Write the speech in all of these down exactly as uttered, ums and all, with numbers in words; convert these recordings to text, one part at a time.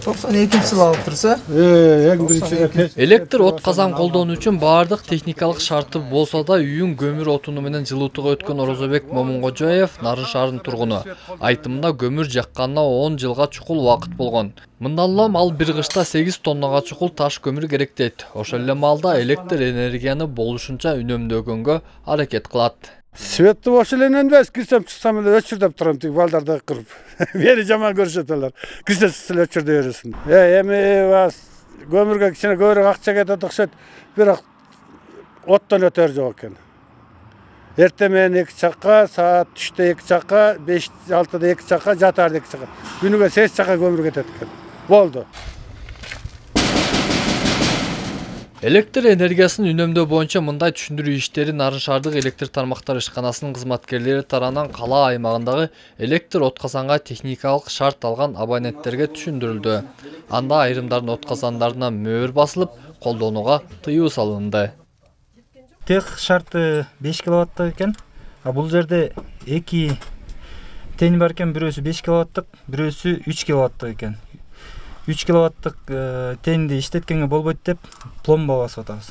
токсон экинчи жылы алып турса. Эң биринчи Электр от казан колдонуу үчүн баардык техникалык шарты болсо да үйүн көмүр отуну менен жылытууга өткөн Орозобек Момунгожоев Нарын шаарынын тургуну. Айтымында көмүр жакканына он жылга чукул убакыт болгон. Мындан улам ал бир кышта сегиз тоннага чукул таш көмүр керек дейт. Ошол эле маалда электр энергияны болушунча үнөмдөгөнгө аракет кылат. Светти ошол эле үнөмдөбүз, кирсем чыксам эле өчүрдөп турам, тиги балдарды кырып. Мени жаман көрүшөт алар. Кирсе эле өчүрдөй бересиң. Э, эми көмүргө кичине көбүрөөк акча кетет окшойт, бирок оттон өтөр жок экен. Эртең менен эки чакка, саат түштө эки чакка, беш алтыда эки чакка, жатаарда эки чакка. Күнүгө сегиз чакка көмүр кетет экен. Болду. Электр энергиясын үнөмдөө боюнча мындай түшүндүрүү иштери Нарын шаардык электр тармактар ишканасынын кызматкерлери тарабынан кала аймагындагы электр отказанга техникалык шарт алган абоненттерге түшүндүрүлдү. Анда айрымдардын отказандарына мөөр басылып, колдонууга тыюу салынды. Тех шарты беш киловаттык экен. А бул жерде эки тени бар экен, бирөөсү беш киловаттык, бирөөсү үч киловаттык экен. үч киловаттык тенди иштеткенге болбойт деп пломба басып атабыз.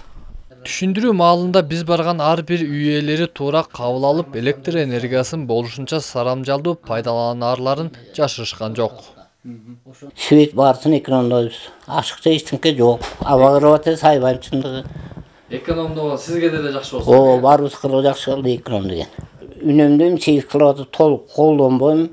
Түшүндүрүү маалында биз барган ар бир үй ээлери туура кабыл алып, электр энергиясын болушунча сарамжалдуу пайдаланаарларын жашырышкан жок. Свет барсын экономдойбуз. Ашыкча эчтеке жок. Аба кырып атат сайбанчылыгы. Экономдоо сизге деле жакшы болсун. О, баарыбызга жакшы болду эконом деген. Үнөмдөйм, сегиз киловатт толук колдонбойм.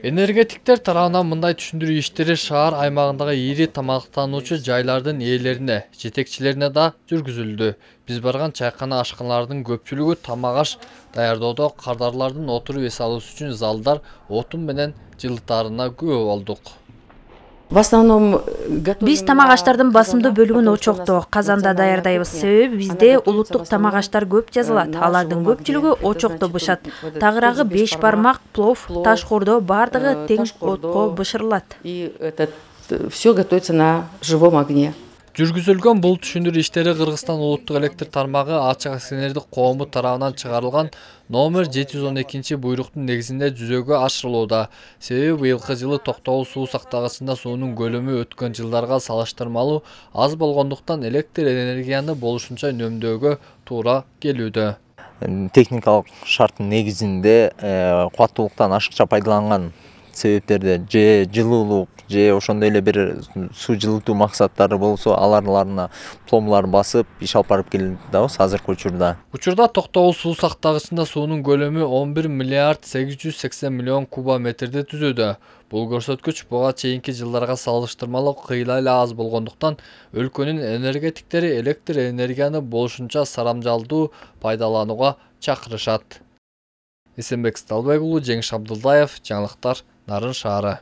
Энергетиктер тарабынан мындай түшүндүрүү иштери шаар аймагындагы ири тамактануучу жайлардын ээлерине, жетекчилерине да жүргүзүлдү. Биз барган чайкана ашканалардын көпчүлүгү тамак аш даярдоодо кардарлардын отуруп эс алуусу үчүн залдар отун менен жылытаарына күбө болдук. В основном биз тамак аштардын басымдуу бөлүгүн очокто, казанда даярдайбыз. Себеби бизде улуттук тамак аштар көп жазылат. Алардын көпчүлүгү очокто бышат. Тагыраагы беш бармак, плов, таш кордоо бардыгы тең отко бышырылат. И это все готовится на живом огне. Жүргүзүлгөн бул түшүндүрүү иштери Кыргызстан улуттук электр тармагы ачык акционердик коому тарабынан чыгарылган номер жети жүз он экинчи буйруктун негизинде жүзөгө ашырылууда. Себеби быйылкы жылы токтогул суу сактагычында суунун көлөмү өткөн жылдарга салыштырмалуу аз болгондуктан электр энергияны болушунча үнөмдөөгө туура келүүдө. Техникалык шарттын негизинде кубаттуулуктан ашыкча пайдаланган себептерде же жылуулук, же ошондой эле бир суу жылытуу максаттары болсо, аларларына пломбалар басып, иш алып барып келебиз азыркы учурда. Учурда токтогул суу сактагычында суунун көлөмү он бир миллиард сегиз жүз сексен миллион куба метрди түзүүдө. Бул көрсөткүч буга чейинки жылдарга салыштырмалуу кыйла эле аз болгондуктан өлкөнүн энергетиктери электр энергияны болушунча сарамжалдуу пайдаланууга чакырышат. Эсенбек Сталбек уулу, Жеңиш Абдылдаев, жаңылыктар, Нарын шаары.